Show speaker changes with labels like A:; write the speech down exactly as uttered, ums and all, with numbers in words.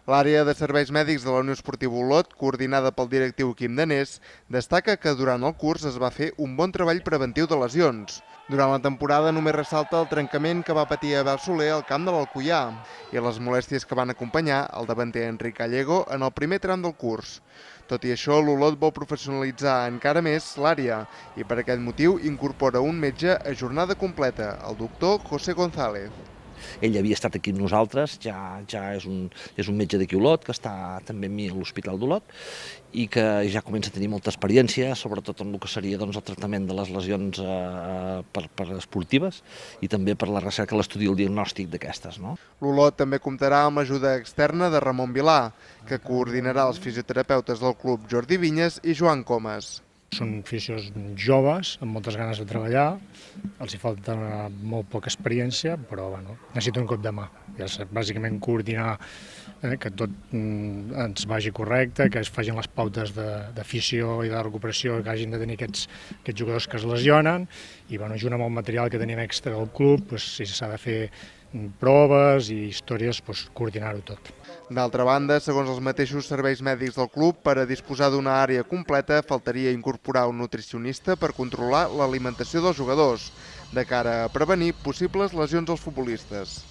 A: L'àrea de serveis mèdics de la Unió Esportiva Olot, coordinada pel directiu Quim Danés, destaca que durant el curs es va fer un bon treball preventiu de lesions. Durant la temporada només ressalta el trencament que va patir Abel Soler al camp de l'Alcoià i les molèsties que van acompanyar el davanter Enric Gallego en el primer tram del curs. Tot i això, l'Olot vol professionalitzar encara més l'àrea i per aquest motiu incorpora un metge a jornada completa, el doctor José González.
B: Ell havia estat aquí amb nosaltres, ja, ja és, un, és un metge d'aquí Olot, que està també amb mi a l'Hospital d'Olot i que ja comença a tenir molta experiència, sobretot en el que seria doncs, el tractament de les lesions eh, per, per esportives i també per la recerca, l'estudi i el diagnòstic d'aquestes. No?
A: L'Olot també comptarà amb l'ajuda externa de Ramon Vilà, que coordinarà els fisioterapeutes del club Jordi Vinyes i Joan Comas.
C: Són fisios joves, amb moltes ganes de treballar, els hi falta molt poca experiència, però bueno, necessito un cop de mà. Ja és bàsicament coordinar eh, que tot mm, ens vagi correcte, que es facin les pautes de, de fisio i de recuperació que hagin de tenir aquests, aquests jugadors que es lesionen, i bueno, junt amb el material que tenim extra del club, doncs, si s'ha de fer proves i històries, doncs, coordinar-ho tot.
A: D'altra banda, segons els mateixos serveis mèdics del club, per a disposar d'una àrea completa faltaria incorporar un nutricionista per controlar l'alimentació dels jugadors, de cara a prevenir possibles lesions als futbolistes.